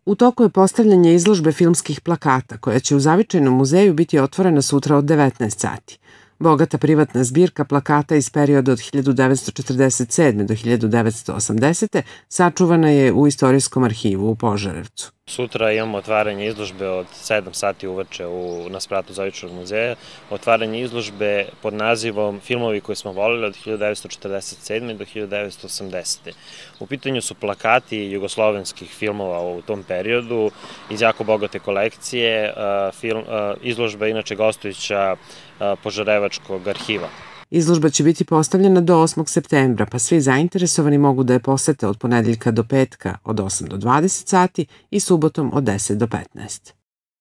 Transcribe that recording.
U toku je postavljanje izložbe filmskih plakata, koja će u Zavičajnom muzeju biti otvorena sutra od 19 sati. Bogata privatna zbirka plakata iz perioda od 1947. do 1980. sačuvana je u Istorijskom arhivu u Požarevcu. Sutra imamo otvaranje izložbe od 7 sati uveče na spratu Zavičajnog muzeja. Otvaranje izložbe pod nazivom Filmovi koje smo voleli od 1947. do 1980. U pitanju su plakati jugoslovenskih filmova u tom periodu iz jako bogate kolekcije. Izložba je inače gostujuća Požarevačkog arhiva. Izložba će biti postavljena do 8. septembra, pa svi zainteresovani mogu da je posete od ponedeljka do petka od 8 do 20 sati i subotom od 10 do 15.